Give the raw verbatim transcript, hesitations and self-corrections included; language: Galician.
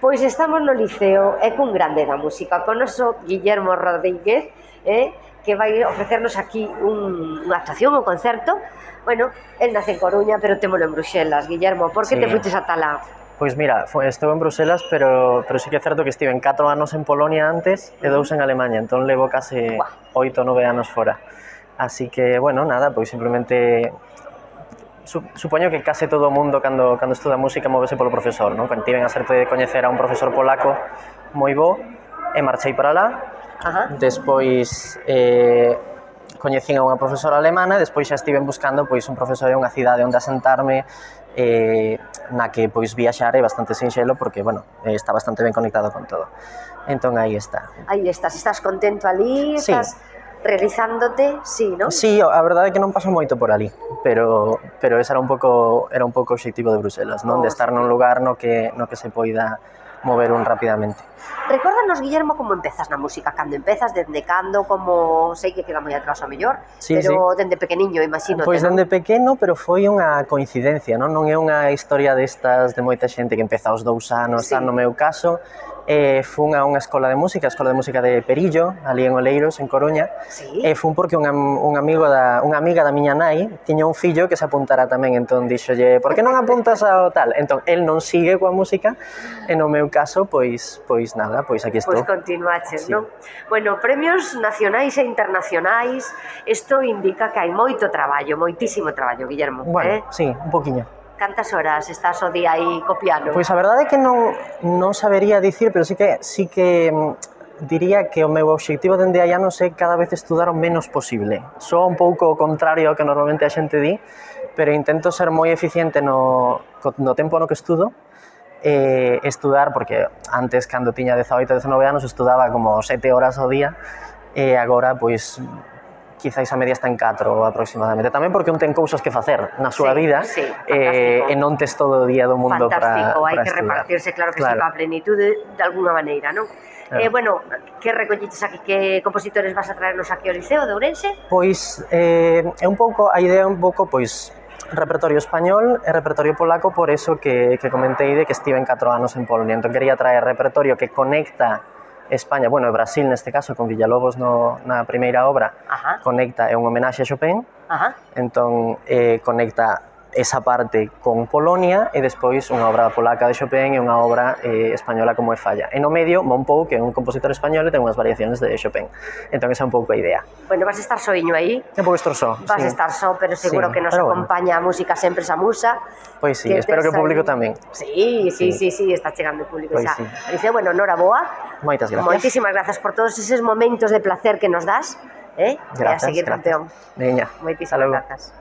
Pois estamos no Liceo e cun grande da música, con noso Guillermo Rodríguez, eh, que vai ofrecernos aquí un, unha actuación, un concerto. Bueno, el nace en Coruña, pero témolo en Bruxelas. Guillermo, por que Sí. te fuites ata lá? Pois mira, foi, estou en Bruselas, pero, pero sí que é certo que estive en catro anos en Polonia antes e dous en Alemanha, entón levo case Buah. oito nove anos fora. Así que, bueno, nada, pois simplemente supoño que case todo o mundo cando, cando estuda música móvese polo profesor, non? Cando tiven a sorte de coñecer a un profesor polaco moi bo e marchei para lá. Ajá. Despois eh, coñecín a unha profesora alemana e despois xa estiven buscando pois un profesor e unha cidade onde asentarme eh, na que pois viaxar é bastante sinxelo porque, bueno, eh, está bastante ben conectado con todo. Entón aí está. Aí estás, estás contento ali, Sí. estás realizándote, sí, non? Sí, a verdade é que non paso moito por ali, pero pero ese era un pouco era un pouco o obxectivo de Bruselas, non? Oh, De estar nun lugar no que no que se poida mover un rapidamente. Recórdanos, Guillermo, como empezas na música, cando empezas, dende cando, como sei que queda moi atrás ao mellor, Sí, pero sí. dende pequeniño, imagino. Pois dende pequeno, pero foi unha coincidencia, non? Non é unha historia destas de moita xente que empeza aos dous anos, Sí. tal, no meu caso, eh, fun a unha escola de música, a escola de música de Perillo, ali en Oleiros, en Coruña, Sí. e fun porque unha, un amigo da, unha amiga da miña nai tiña un fillo que se apuntara tamén, entón dixolle, por que non apuntas ao tal? Entón, el non sigue coa música, e no meu caso, pois, pois nada, pois aquí estou. Pois continuaches, Sí. non? Bueno, premios nacionais e internacionais, isto indica que hai moito traballo, moitísimo traballo, Guillermo. Bueno, eh? sí, un poquinho. Cantas horas estás o día aí co piano? Pois a verdade é que non, non sabería dicir, pero sí que, sí que diría que o meu obxectivo dende hai anos é cada vez estudar o menos posible. Soa un pouco o contrario ao que normalmente a xente di, pero intento ser moi eficiente no, no tempo no que estudo, e estudar, porque antes, cando tiña dezaoito, dezanove anos, estudaba como sete horas ao día, e agora, pois, quizáis a media está en catro aproximadamente. Tamén porque un ten cousas que facer na súa Sí, vida sí, eh, e non tes todo o día do mundo para fantástico, hai para que estudar. repartirse, claro que Claro. sí, para a plenitude de alguna maneira, non? Claro. Eh, bueno, que recolliches aquí, que compositores vas a traernos aquí ao Liceo de Ourense? Pois eh, é un pouco, a idea é un pouco, pois, repertorio español e repertorio polaco, por eso que, que comentei de que estive en catro anos en Polonia. Entón quería traer repertorio que conecta España, bueno, e Brasil neste caso, con Villalobos no, na primeira obra. Ajá. Conecta, é un homenaxe a Chopin, Ajá. entón eh, conecta esa parte con Polonia e despois unha obra polaca de Chopin e unha obra eh, española como é Falla. E no medio, Monpou, que é un compositor español e ten unhas variacións de Chopin. Entón esa é un pouco a idea. Bueno, vas a estar soiño aí. É un pouco estroso. Vas sí. a estar só, pero seguro Sí, que nos pero bueno. acompaña a música sempre esa musa. Pois sí, espero que o público tamén. Sí, sí, Sí. sí, sí, está chegando o público Pois xa. sí. Dice, bueno, noraboa. Moitas gracias. Moitísimas grazas por todos eses momentos de placer que nos das, eh? E a Grazas, seguir, grazas. campeón. Veña, Moitísimas hasta logo. grazas.